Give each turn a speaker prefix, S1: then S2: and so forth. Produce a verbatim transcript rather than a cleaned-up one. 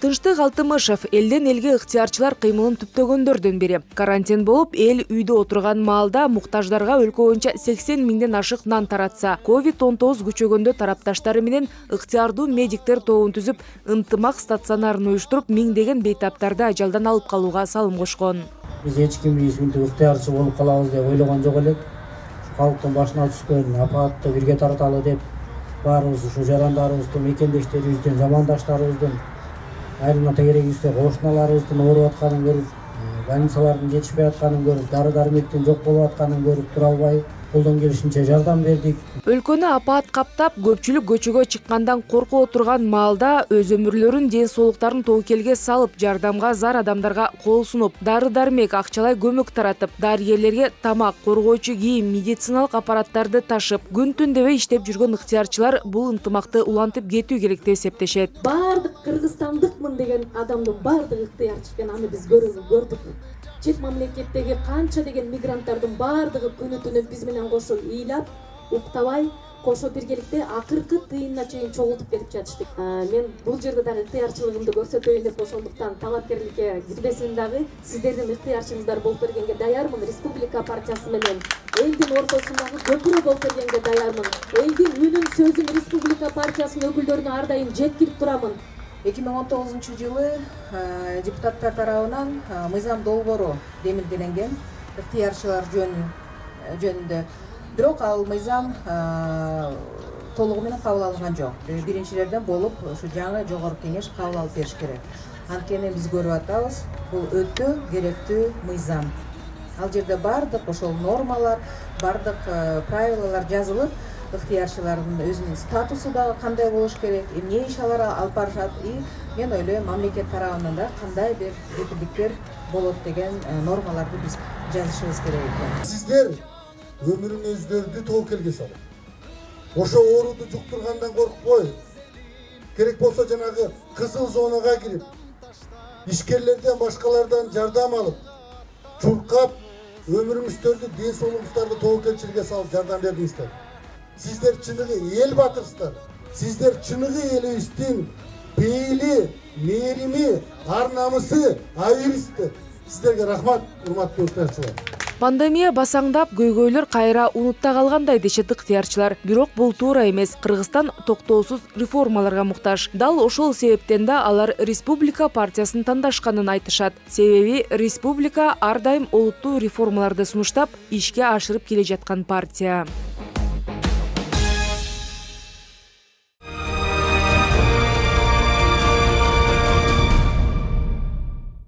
S1: Тынчтык Алтымышев элден элге ыктыярчылар кыймылын түптөгөндөрдүн бири. Карантин болуп, эл үйдө отурган маалда муктаждарга өлкө боюнча сексен миңден ашык нан таратса, ковид он тогуз күчөгөндө тарапташтары менен ыктыярдуу медиктер тобун түзүп, ынтымак стационарын уюштуруп, миңдеген бейтаптарды ажалдан алып калууга салым кошкон.
S2: Биз эч ким исминтип ыктыярчы болуп калабыз деп ойлогон жок элек. Калктын башына түшкөн апатты бирге тарталы деп баарыбыз ушу жарандарыбыздын, мекендештерибиздин, замандаштарыбыздын, айрым керегибизде кошуналарыбыздын ооруп атканын көрүп, больницалардын жетишпей атканын көрүп, дары-дармектин жок болуп атканын көрүп тура албай, колдон келишинче жардам бердик.
S1: Өлкөнү апаат каптап, көпчүлүк көчөгө чыккандан коркуп отурган маалда өз өмүрлөрүн, ден соолуктарын тобокелге салып, жардамга зар адамдарга кол сунуп, дары-дармек, акчалай көмөк таратып, дарыгерлерге тамак, коргоочу кийим, медициналык аппараттарды ташып, күн-түн дебей иштеп жүргөн ыктыярчылар бул ынтымакты улантып кетүү керек деп эсептешет.
S3: Бардык кыргызстандыкмын деген адамдын бардыгы ыктыярчы экен, аны биз көрдүк. Чет мамлекеттеги канча деген мигранттардын бардыгы күнү-түнү биз менен кошо ыйлап, уктабай, кошо биргеликте акыркы тыйынына чейин чогултуп кетип жатыштык. Мен бул жерде дагы ыктыярчылыгымды көрсөтөйүн деп ошондуктан талапкерликке кирбесин дагы сиздердин ыктыярчыңыздар болуп бергенге даярмын. Республика партиясы менен элдин ортосундагы көпүрө болуп бергенге даярмын. Элдин үнүн, сөзүн Республика партиясынын өкүлдөрүнө ар дайым жеткирип турамын.
S4: эки миң он тогузунчу жылы депутаттар тарабынан мыйзам долбоору демилделенген ыктыярчылар жөнүндө. Бирок ал мыйзам толугу менен кабыл алынган жок. Биринчилерден болуп ушу жаңы жогорку кеңеш кабыл алып бериш керек. Анткени биз көрүп атабыз, бул өтө керектүү мыйзам. Ал жерде бардык ошол нормалар, бардык правилалар жазылып, ыктыярчылардын өзүнүн статусу да кандай болуш керек, эмне иш алар алып барышат, и мен ойлойм мамлекет тарабынан да кандай бир кепилдиктер болот деген нормаларды биз жазышыбыз керек экен.
S5: Сиздер өмүрүңүздөрдү тобокелге салып, ошо ооруду жуктургандан коркпой, керек болсо жанагы кызыл зонага кирип, ишкерлерден, башкалардан жардам алып, чуркап, өмүрүңүздөрдү, ден соолугуңуздарды тобокелчиликке салып жардам бердиңиздер. Сиздер чыныгы эл батырсыздар. Сиздер чыныгы элибиздин пейили, мээрими, ар намысы, айырысыздар. Сиздерге рахмат, урматтуу ыктыярчылар.
S1: Пандемия басаңдап, көйгөйлөр кайра унутта калгандай дешет ыктыярчылар. Бирок бул туура эмес. Кыргызстан токтоосуз реформаларга муктаж. Дал ошол себептен да алар Республика партиясын тандашканын айтышат. Себеби Республика ар дайым олуттуу реформаларды сунуштап, ишке ашырып келе жаткан партия.